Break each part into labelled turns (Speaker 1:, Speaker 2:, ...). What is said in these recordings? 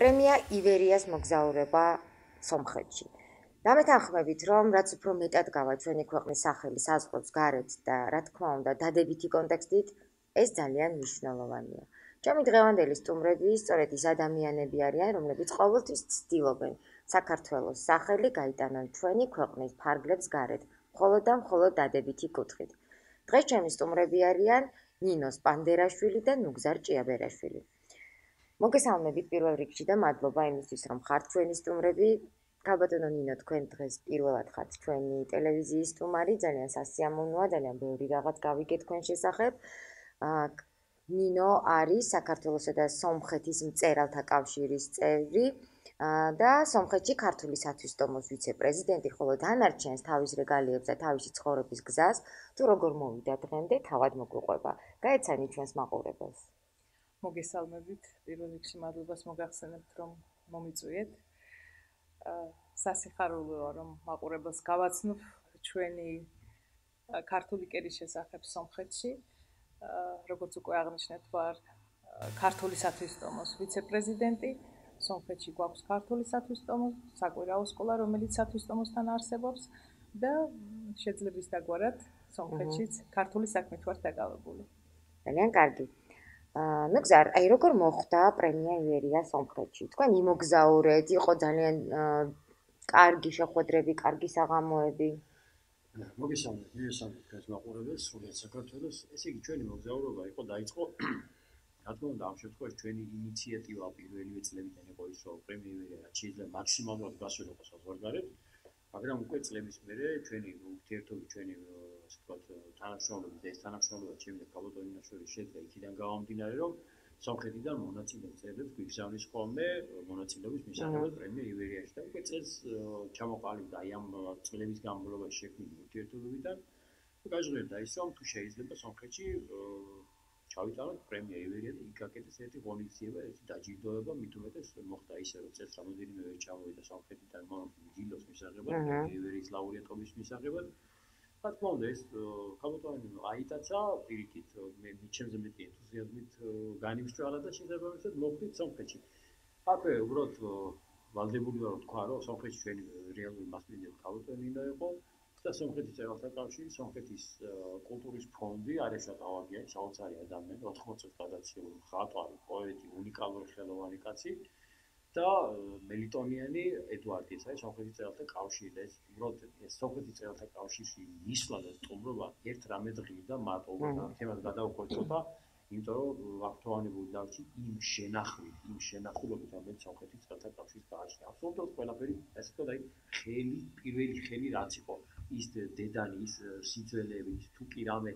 Speaker 1: პრემია ივერიას მოგზაურობა სომხეთში. დამეთანხმებით, რომ რაც უფრო მეტად გავა ჩვენი ქვეყნის სახელი საზღვრებს გარეთ და რა თქმა უნდა დადებითი კონტექსტით, ეს ძალიან მნიშვნელოვანია. ჩემი დღევანდელი სტუმრები სწორედ ის ადამიანები არიან, რომლებიც ყოველთვის ცდილობენ საქართველოს სახელი გაიტანონ ჩვენი ქვეყნის ფარგლებს გარეთ, მხოლოდ და მხოლოდ დადებითი კუთხით. დღეს ჩემი სტუმრები არიან ნინო სპანდერაშვილი და ნუგზარ ჭიაბერაშვილი. მოგესალმებით პირველ რიგში და მადლობა იმისთვის, რომ ხართ ჩვენი სტუმრები. ქალბატონო ნინო, თქვენ დღეს პირველად ხართ ჩვენი ტელევიზიის სტუმარი, ძალიან სასიამოვნოა, ძალიან ბევრი რაღაც გავიგე თქვენ შესახებ. ნინო არის საქართველოსა და სომხეთის მწერალთა კავშირის წევრი და სომხეთში ქართული სათვისტომოს ვიცე-პრეზიდენტი, ხოლო დანარჩენს თავის რეგალიებს და თავისი ცხოვრების გზას, თუ როგორ მოვიდა დღემდე, თავად მოგვიყვება. გაეცანი ჩვენს მაყურებელს.
Speaker 2: მოგესალმებით, პირველ რიგში მადლობას მოგახსენებთ, რომ მომიწვიეთ. სასიხარულოა, რომ მაყურებელს გავაცნობ ჩვენი ქართული კერის შესახებ სომხეთში. როგორც უკვე აღნიშნეთ, ვარ ქართული სათვისტომოს ვიცე-პრეზიდენტი. სომხეთში გვაქვს ქართული სათვისტომო, საკვირაო სკოლა, რომელიც სათვისტომოსთან არსებობს და შეძლების დაგვარად სომხეთშიც ქართული საქმით ვარ დაკავებული.
Speaker 1: ძალიან კარგი. ნუგზარ, აი როგორ მოხდა პრემია ივერია სომხეთში? თქვენ იმოგზაურეთ, იყო ძალიან კარგი შეხვედრები, კარგი საღამოები.
Speaker 3: მოგესალმებით, მივესალმებით თქვენს მაყურებელს, სრულიად საქართველოს. ესე იგი, ჩვენი მოგზაურობა დაიწყო, რა თქმა უნდა, ამ შემთხვევაში ჩვენი ინიციატივა პირველივე წლებიდან იყო ის, რომ პრემია ივერია რაც შეიძლება მაქსიმალურად გასულიყო საზღვარგარეთ, მაგრამ უკვე წლების მერე ჩვენი ურთიერთობები, ჩვენი ასე ვთქვათ, თანამშრომლობები და ეს თანამშრომლობა ჩემი ქალბატონ ნინაშვილის შეძლო იქიდან გამომდინარე, რომ სომხეთიდან მონაწილე მწერლებს გვიგზავნის ხოლმე მონაწილეობის მისაღებად პრემია ივერიაში და უკვე წელს ჩამოყალიბდა აი ამ წლების განმავლობაში შექმნილი ურთიერთობებიდან გაჟღერდა ის, რომ თუ შეიძლება სომხეთში ჩავიტანოთ პრემია ივერია და იგაკეთეს ერთი ღონისძიება, ერთი დაჯილდოება, მით უმეტეს მოხდა ისე, რომ წელს რამოდენიმე ვერ ჩამოვიდა სომხეთიდან დილოს მისაღებად, პრემია ივერიის ლაურეატობის მისაღებად. რა თქმა უნდა, ეს ქალბატონი აიტაცა პირიქით, მე ჩემზე მეტი ენთუზიაზმით განიმსჭვალა და შესაბამისად მოვხდით სომხეთში. აქვე უბრალოდ ვალდებული ვარ თქვა, რომ სომხეთში ჩვენი რეალური მასპინძელი ქალბატონი ნინო იყო და სომხეთის მწერალთა კავშირი, სომხეთის კულტურის ფონდი, არეშა ტავაგიანი, საოცარი ადამიანი, 80 წელს გადაცილებული მხატვარი, პოეტი, უნიკალური ხელოვანი კაცი და მელიტონიანი ედვარდი, ეს არის სომხეთის მწერალთა კავშირი და ეს უბრალოდ სომხეთის მწერალთა კავშირში მისვლა და სტუმრობა ერთ რამედ ღირდა მარტო ამ თემას გადავხოცოთ, იმიტომ რომ ვაქტუალურობრივ დავჭი იმ შენახულობით, რომელიც სომხეთის მწერალთა კავშირს გააჩნია. აბსოლუტურად ყველაფერი, ასე ვთქვათ, აი პირველი ხელი რაც იყო, ის დედანი, ის სიძველეები, თუ კი რამე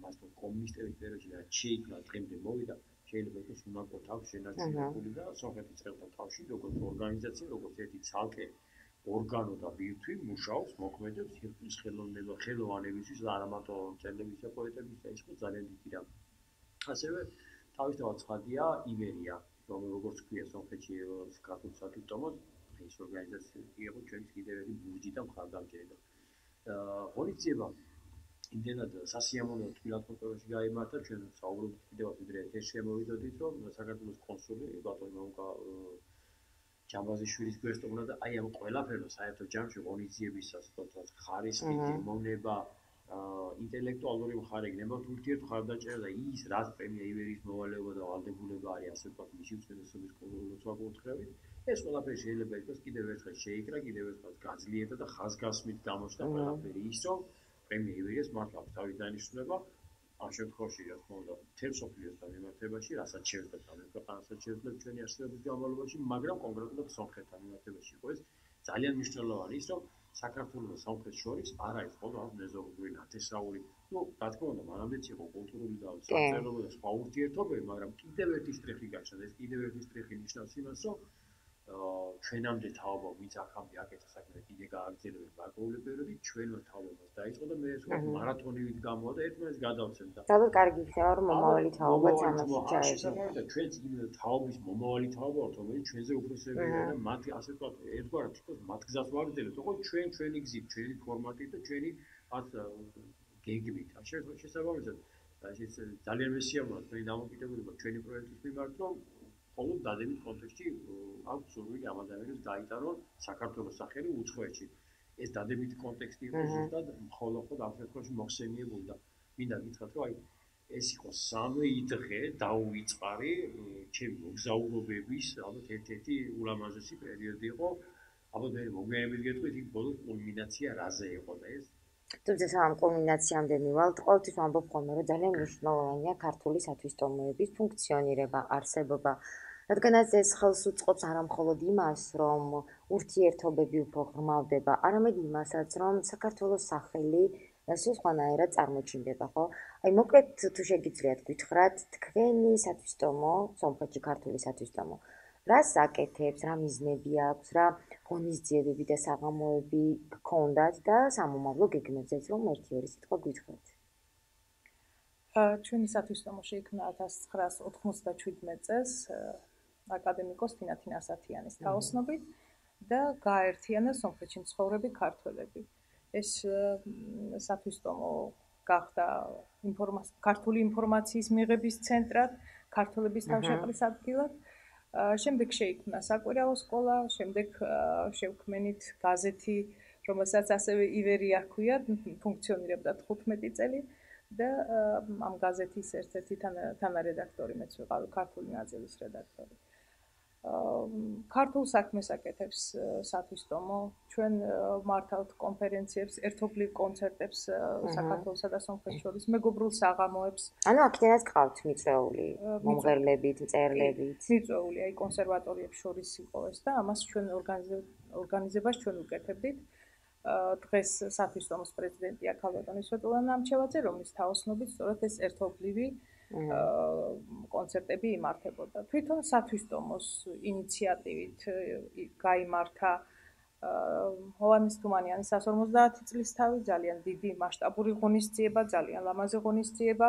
Speaker 3: მასთან კომუნისტების პერიოდში რაც შეიქმნა, დღემდე მოვიდა, შეიძლება იყოს უნაკოდ აქვს შენარჩუნებული და სომხეთის მწერალთა კავშირი, როგორც ორგანიზაცია, როგორც ერთი ცალკე ორგანო და ბირთვი მუშაობს, მოქმედებს სირკულის ხელოვანებისთვის და არა მარტო მწერლების და პოეტების და ის იყო ძალიან დიდი რამ. ასევე თავისთავად ცხადია ივერია, როგორც ქვია სომხეთში ქართული სათვისტომოს, ეს ორგანიზაცია იყო ჩვენს კიდევ ერთი ბურჯი და მხარდამჭერი. ღონისძიება იმდენად სასიამოვნო თბილისში გაიმართა, ჩვენ საუბრობთ კიდევაც ვიდრე ეს შემოვიდოდით, რომ საქართველოს კონსული ბატონი მომკა ჯამბაზიშვილის გვესტუმრა და აი ამ ყველაფერს საერთო ჯამში ღონისძიების ასეთაც ხარისხი, გემოვნება, ინტელექტუალური მხარე, გნებავთ ურთიერთ მხარდაჭერა და ის რაც პრემია ივერიის მოვალეობა და ვალდებულება არის, ასე ვთქვათ, მისი უწესრიგობის კონტროლით, ეს ყველაფერი შეიძლება იყოს კიდევ ერთხელ შეიკრა, კიდევ ერთხელ გაძლიერდა და ხაზგასმით გამოჩნდა ყველაფერი ის, რომ პრემია ივერიას მართლა თავის დანიშნულება ამ შემთხვევაში, რა თქმა უნდა, მთელ მსოფლიოსთან მიმართებაში, რასაც შევძლებთ ამ ქვეყანასაც შევძლებთ ჩვენი არსებობის განმავლობაში, მაგრამ კონკრეტულად სომხეთთან მიმართებაში იყო ეს ძალიან მნიშვნელოვანი ის, რომ საქართველოს და სომხეთის შორის არ არის მხოლოდ ამ მეზობლური ნათესაური. რა თქმა უნდა, მანამდეც იყო კულტურული და სამწერლობო და სხვა ურთიერთობები, მაგრამ კიდევ ერთი შტრიხი გაჩნდა. ეს კიდევ ერთი შტრიხი ნიშნავს იმას, რომ ჩვენამდე თაობა ვინც აქამდე აკეთა საქმე კიდე გააგრძელებენ გარკვეული პერიოდი, ჩვენმა თაობებას დაიწყო და მე ეს მარათონივით გამოვა და ერთმანეთს გადავცემდა.
Speaker 1: ძალიან კარგი იქნება, რომ მომავალი თაობაც ამაში
Speaker 3: ჩაერთო. ჩვენც იმ თაობის მომავალი თაობა ვართ, რომელიც ჩვენზე უფროსებია და მათ ასე ვთქვათ, ერთგვარად თვითონ მათ გზას ვაგრძელებთ, ოღონდ ჩვენი გზით, ჩვენი ფორმატით და ჩვენი მათ გეგმით. შესაბამისად, ეს ძალიან მესიამოვნოა თქვენი დამოკიდებულება ჩვენი პროექტის მიმართ, რომ მხოლოდ დადებით კონტექსტში აქვს სურვილი ამ ადამიანებს დაიტანონ საქართველოს სახელი უცხოეთში. ეს დადებითი კონტექსტი იყო ზუსტად მხოლოდ ამ შემთხვევაში მოხსენიებული და მინდა გითხრათ, რომ აი ეს იყო 3 დღე დაუვიწყარი ჩემი მოგზაურობების ალბათ ერთ-ერთი ულამაზესი პერიოდი იყო. ალბათ მე მოგვიანებით გეტყვით, იქ ბოლოს კულმინაცია რაზე იყო და ეს
Speaker 1: თუმცა სამ კულმინაციამდე მივალთ, ყოველთვის ვამბობ ხოლმე, რომ ძალიან მნიშვნელოვანია ქართული სათვისტომოების ფუნქციონირება, არსებობა, რადგანაც ეს ხელს უწყობს არა მხოლოდ იმას, რომ ურთიერთობები უფრო ღრმავდება, არამედ იმასაც, რომ საქართველოს სახელი სულ სხვანაირად წარმოჩინდება, ხო? აი მოკლედ თუ შეგიძლიათ გითხრათ, თქვენი სათვისტომო, სომხეთში ქართული სათვისტომო, რას აკეთებს, რა მიზნები აქვს, რა ღონისძიებები და საღამოები გქონდათ და სამომავლო გეგმებზეც რომ 1-2 სიტყვა გითხრათ.
Speaker 2: ჩვენი სათვისტომო შეიქმნა 1997 წელს აკადემიკოს თინათინ ასათიანის თაოსნობით და გააერთიანა სომხეთში მცხოვრები ქართველები. ეს სათვისტომო გახდა ქართული ინფორმაციის მიღების ცენტრად, ქართველების თავშეყრის ადგილად. შემდეგ შეიქმნა საკვირაო სკოლა, შემდეგ შევქმნით გაზეთი, რომელსაც ასევე ივერია ჰქვია, ფუნქციონირებდა 15 წელი და ამ გაზეთის ერთ-ერთი თანარედაქტორი მეც ვიყავი, ქართული ნაწილის რედაქტორი. ქართულ საქმეს აკეთებს სათვისტომო, ჩვენ მართავთ კონფერენციებს, ერთობლივ კონცერტებს საქართველოსა და სომხეთს შორის, მეგობრულ საღამოებს.
Speaker 1: ანუ აქედანაც გყავთ მიწვეული, მომღერლებით, მწერლებით.
Speaker 2: მიწვეული, აი კონსერვატორიებს შორის იყო ეს და ამას ჩვენ ორგანიზებას ჩვენ უკეთებდით. დღეს სათვისტომოს პრეზიდენტია ქალბატონი სვეტლანა ამჩევაძე, რომლის თაოსნობით სწორედ ეს ერთობლივი კონცერტები იმართებოდა. თვითონ სათვისტომოს ინიციატივით გაიმართა ჰოვანეს თუმანიანის 150 წლის თავი, ძალიან დიდი მასშტაბური ღონისძიება, ძალიან ლამაზი ღონისძიება,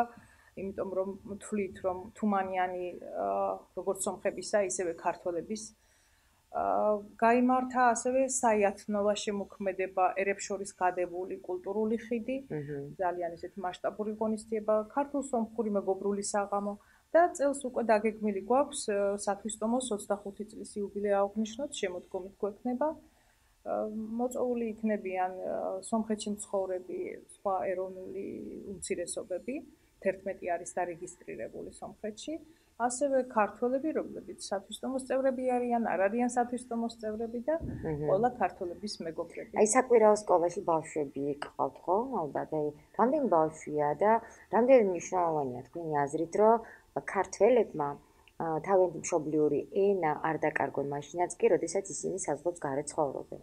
Speaker 2: იმიტომ რომ თვლით, რომ თუმანიანი როგორც სომხებისა, ისევე ქართველების გაიმართა ასევე საიათნოვა შემოქმედება, ერებს შორის გადებული კულტურული ხიდი, ძალიან ესეთი მასშტაბური ღონისძიება, ქართულ-სომხური მეგობრული საღამო და წელს უკვე დაგეგმილი გვაქვს სათვისტომოს 25 წლის იუბილეა აღნიშნოთ, შემოდგომით გვექნება. მოწვეული იქნებიან სომხეთში მცხოვრები სხვა ეროვნული უმცირესობები, 11 არის დარეგისტრირებული სომხეთში. ასევე ქართველები, რომლებიც სათვისტომოს წევრები არიან, არ არიან სათვისტომოს წევრები და ყველა ქართველების მეგობრები.
Speaker 1: აი საკვირაო სკოლაში ბავშვები გყავთ, ხო? ალბათ, აი რამდენი ბავშვია და რამდენი მნიშვნელოვანია თქვენი აზრით, რომ ქართველებმა თავიანთი მშობლიური ენა არ დაკარგონ მაშინაც კი, როდესაც ისინი საზღვრებს გარეთ ცხოვრობენ.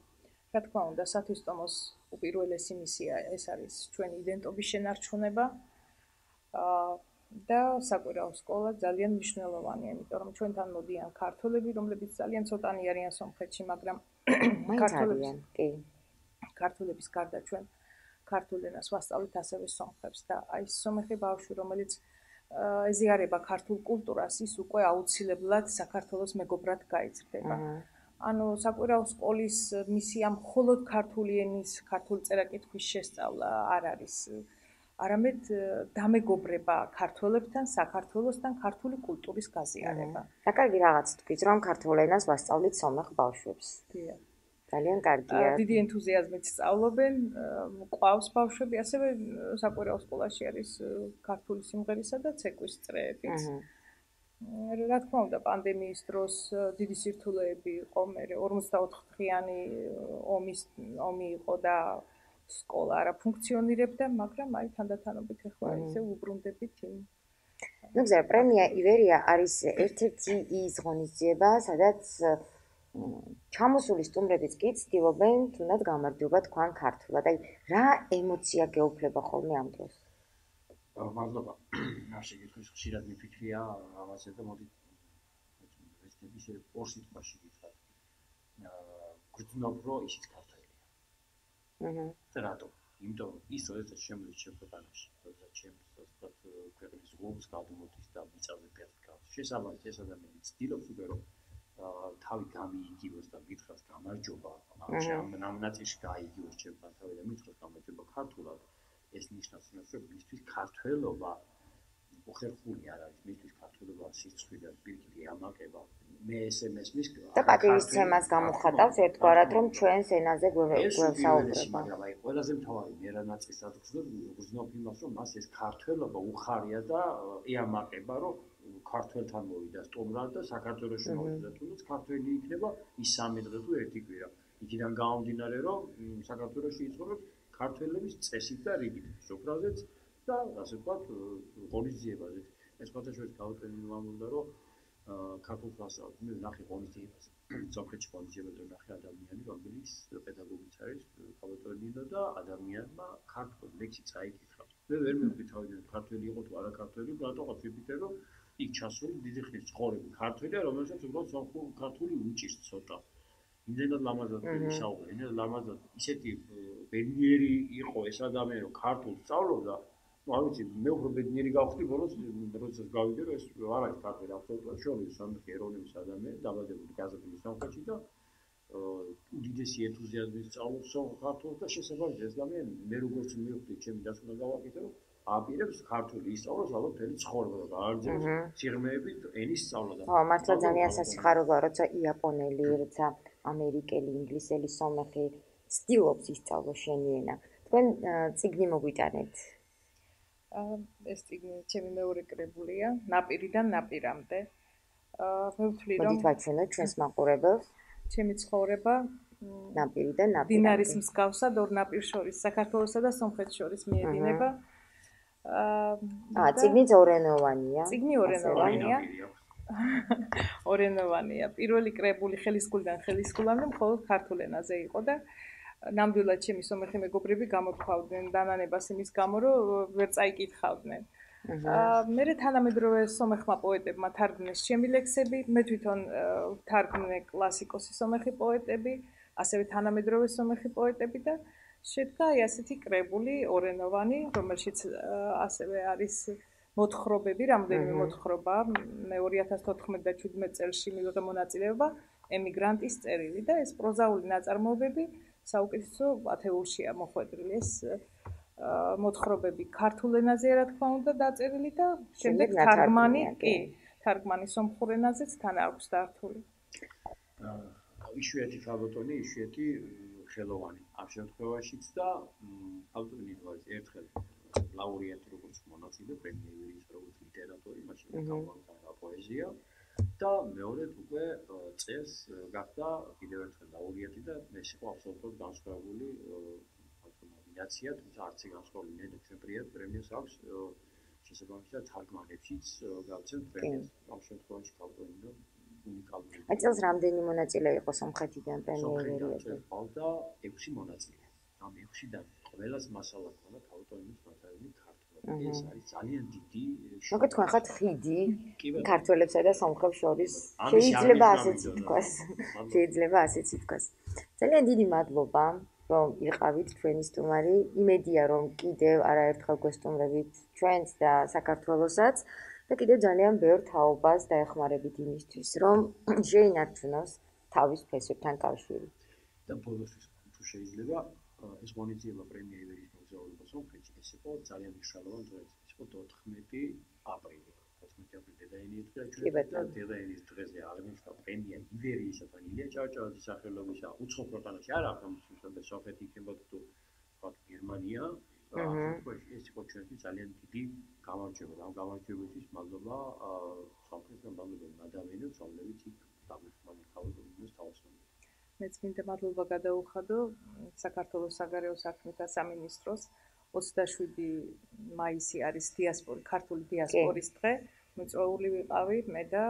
Speaker 2: რა თქმა უნდა, სათვისტომოს უპირველესი მისია ეს არის ჩვენი იდენტობის შენარჩუნება. და საკვირაო სკოლა ძალიან მნიშვნელოვანია, იმიტომ რომ ჩვენთან მოდიან ქართველები, რომლებიც ძალიან ცოტანი არიან სომხეთში, მაგრამ ქართველების გარდა ჩვენ ქართულ ენას ვასწავლით ასევე სომხებს და აი სომეხი ბავშვი, რომელიც ეზიარება ქართულ კულტურას, ის უკვე აუცილებლად საქართველოს მეგობრად გაიზრდება. ანუ საკვირაო სკოლის მისია მხოლოდ ქართული ენის, ქართული წერა-კითხვის შესწავლა არ არის. არამედ დამეგობრება ქართველებთან, საქართველოსთან, ქართული კულტურის გაზიარება.
Speaker 1: და კარგი რაღაც თქვით, რომ ქართულ ენას ვასწავლით სომეხ ბავშვებს. ძალიან კარგია.
Speaker 2: დიდი ენთუზიაზმით სწავლობენ, ყავს ბავშვები, ასევე საკვირაო სკოლაში არის ქართული სიმღერისა და ცეკვის წრეებიც. რა თქმა უნდა, პანდემიის დროს დიდი სირთულეები იყო, მე 44 დღიანი ომი იყო და სკოლა არა ფუნქციონირებდა, მაგრამ აი თანდათანობით ახლა ისე უბრუნდებით იმ.
Speaker 1: ნუ გზა პრემია ივერია არის ერთ-ერთი ის ღონისძიება, სადაც ჩამოსული სტუმრებიც კი ცდილობენ თუნდაც გამარჯობა თქვან ქართულად. აი რა ემოცია გეუფლება ხოლმე ამ დროს?
Speaker 3: მადლობა. რა შეგიძლიათ ხშირად მიფიქრია ამაზე და მოდი ეს ორ სიტყვაში გითხრათ. გრძნობ რომ ისიც და რატო? იმიტომ რომ ის როდესაც შემოდის ჩემ ქვეყანაში, როდესაც ჩემს ქვეყნის ღლობს გადმოდის და მიწაზე პერკავს. შესაბამისად ეს ადამიანი ცდილობს უკვე რომ თავი გამიიგივოს და მითხრას გამარჯობა, ამ ნაწილში გაიგივოს ჩემთან თავი და მითხრას გამარჯობა ქართულად. ეს ნიშნავს იმას, რომ მისთვის ქართველობა ხერხული არ არის მისთვის ქართულობა სიცხვი და პირიქით ამაყება მე SMS მისკვა
Speaker 1: და პატივისცემას გამოხატავს ერთგვარად რომ ჩვენს ენაზე გვევსაუბრება
Speaker 3: მაგრამ აი ყველაზე მთავარი მე რა ნაწილსაც გრძნობ იმას რომ მას ეს ქართველობა უხარია და ეამაყება რომ ქართველთან მოვიდა სტუმრად და საქართველოში მოვიდა თუნდაც ქართველი იქნება ის 3 დღე თუ 1 კვირა იქიდან გამომდინარე რომ საქართველოში იცხოვრებს ქართველების წესით და რიგით სოფრაზეც და ასე ვთქვათ ღონისძიებაზე ეს ყოველთვის გაუტენილი მომდა რომ ქართულ კლასად მე ნახე ღონისძიებას სოფრეთში ღონისძიებაზე ნახე ადამიანი რომელიც პედაგოგიც არის ქალბატონინო და ადამიანმა ქართულ ლექსი წაიკითხა მე ვერ მივხვდი ქართველი იყო თუ არა ქართველი რატო ვიფიქრე რომ იქ ჩასული დიდი ხნის ცხოვრები ქართველია რომელსაც უბრალოდ ქართული უჭირს ცოტა იმდენად ლამაზად ისაუბრა იმდენად ლამაზად ისეთი ბედნიერი იყო ეს ადამიანი რომ ქართულ სწავლობდა არ ვიცი მე უფრო ბედნიერი გავხდი ბოლოს როდესაც გავიგე რომ ეს არ არის ქართველი აბსოლუტურად შორეული სამხი ეროვნების ადამიანი დაბადებული გაზრდილი სამხში და უდიდესი ენთუზიაზმით სწავლობს ქართულს და შესაბამისად ეს ადამიანი მე როგორც მივხვდი ჩემი დასკვნა გავაკეთე რომ აპირებს ქართული ისწავლოს ალბათ მთელი ცხოვრება და გააგრძელოს სიღრმეებით ენის სწავლა და
Speaker 1: ხო მართლა ძალიან სასიხარულოა როცა იაპონელი როცა ამერიკელი ინგლისელი სომეხი ცდილობს ისწავლოს შენი ენა თქვენ წიგნი მოგვიტანეთ
Speaker 2: ეს წიგნი ჩემი მეორე კრებულია ნაპირიდან ნაპირამდე მე ვთვლი რომ
Speaker 1: მოდით ვაჩვენოთ ჩვენს მაყურებელს
Speaker 2: ჩემი ცხოვრება
Speaker 1: ნაპირიდან ნაპირამდე
Speaker 2: დინარის მსგავსად ორ ნაპირ შორის საქართველოსა და სომხეთის შორის მიედინება
Speaker 1: წიგნი ორენოვანია
Speaker 2: წიგნი ორენოვანია ორენოვანია პირველი კრებული ხელისგულიდან ხელისგულამდე მხოლოდ ქართულ ენაზე იყო და ნამდვილად ჩემი სომეხი მეგობრები გამოქვავდნენ დანანებას იმის გამო რომ ვერ წაიკითხავდნენ მე თანამედროვე სომეხმა პოეტებმა თარგმნეს ჩემი ლექსები მე თვითონ თარგმნე კლასიკოსი სომეხი პოეტები ასევე თანამედროვე სომეხი პოეტები და შედგა ასეთი კრებული ორენოვანი რომელშიც ასევე არის მოთხრობები რამდენიმე მოთხრობა მე 2014-17 წელს მივიღე მონაწილეობა ემიგრანტის წერილი და ეს პროზაული ნაწარმოებები საუკეთესო ათეულშია მოხვედრილი ეს მოთხრობები ქართულ ენაზე რა თქმა უნდა დაწერილი და შემდეგ თარგმანი სომხურ ენაზეც თან აქვს დართული
Speaker 3: იშვიათი ქალბატონი იშვიათი ხელოვანი ამ შემთხვევაშიც და ავტორი ვარ ერთხელ ლაურეატი როგორც მონაწილე პრემიერის როგორც ლიტერატორი მაშინ გამოვიდა პოეზია და მეორედ უკვე წელს გახდა კიდევ ერთხელ ლაურეატი და ეს იყო აბსოლუტურად განსხვავებული ნომინაცია თუმცა არც განსხვავებული ნედლ პრემიას აქვს შესაბამისად თარგმანებშიც გავცემთ პრემიას ამ შემთხვევაში ქალბატონი უნიკალური.
Speaker 1: აი წელს რამდენი მონაწილე იყო სომხეთიდან პრემიერებზე?
Speaker 3: ყავდა 6 მონაწილე. ამ 6-დან ყველას მასალა ქონდა ქალბატონის მასალები ქართულად. ეს არის ძალიან დიდი
Speaker 1: მოგეთ თქვენ ხართ ხიდი ქართველებსა და სომხებს შორის. შეიძლება ასეც ითქვას. შეიძლება ასეც ითქვას. ძალიან დიდი მადლობა რომ იყავით ჩვენი სტუმარი. იმედია რომ კიდევ არაერთხელ გვესტუმრებით ჩვენც და საქართველოსაც. და კიდევ ძალიან ბევრ თაობას დაეხმარებით იმისთვის, რომ შეინარჩუნოს თავის ფესვებთან კავშირი.
Speaker 3: და ბოლოსთვის თუ შეიძლება ეს ღონისძიება პრემია ივერიის მოგზაურობა სომხეთში ეს იყო ძალიან მნიშვნელოვანი დღე. ეს იყო 14 აპრილი. 14 აპრილი დედაენის დღე და დედაენის დღეზე აღნიშნა პრემია ივერიისა და ილია ჭავჭავაძის სახელობისა უცხო ქვეყანაში არ აქვს თუმცა სომხეთი იქნება თუ გერმანია ეს იყო ჩვენთვის ძალიან დიდი გამარჯვება. ამ გამარჯვებისთვის მადლობა სომხეთს და მადლობა ადამიანებს, რომლებიც იქ გამოსვლით ქალბატონის თავისუფლად.
Speaker 2: მეც მინდა მადლობა გადაუხადო საქართველოს საგარეო საქმეთა სამინისტროს 27 მაისი არის ქართული დიასპორის დღე. მოწვეული ვიყავი მე და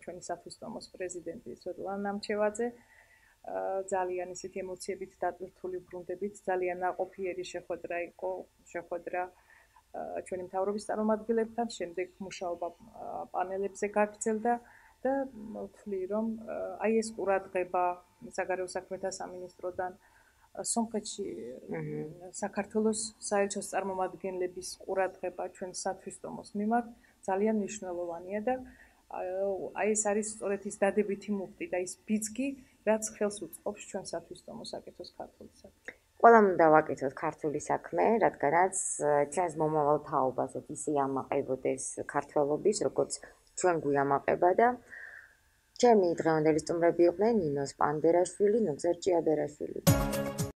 Speaker 2: ჩვენი სათვისტომოს პრეზიდენტი სვეტლანა ნამჩევაძე. ძალიან ისეთი ემოციებით დატვირთული ბრუნდებით ძალიან ნაყოფიერი შეხვედრა იყო შეხვედრა ჩვენი მთავრობის წარმომადგენლებთან შემდეგ მუშაობა პანელებზე გაგრძელდა და ვთვლი რომ აი ეს ყურადღება საგარეო საქმეთა სამინისტროდან სომხეთში საქართველოს საელჩოს წარმომადგენლების ყურადღება ჩვენ სათვისტომოს მიმართ ძალიან მნიშვნელოვანია და აი ეს არის სწორედ ის დადებითი მუხტი და ის ბიძგი რაც ხელს უწყობს ჩვენ სათვისტომოს აკეთოს ქართულისა.
Speaker 1: ყველამ უნდა ვაკეთოთ ქართული საქმე, რადგანაც ჩვენს მომავალ თაობასაც ისე ამაყებოდეს ქართველობის, როგორც ჩვენ გვიამაყება და ჩემი დღევანდელი სტუმრები იყვნენ ნინო სპანდერაშვილი, ნუგზარ ჭიაბერაშვილი.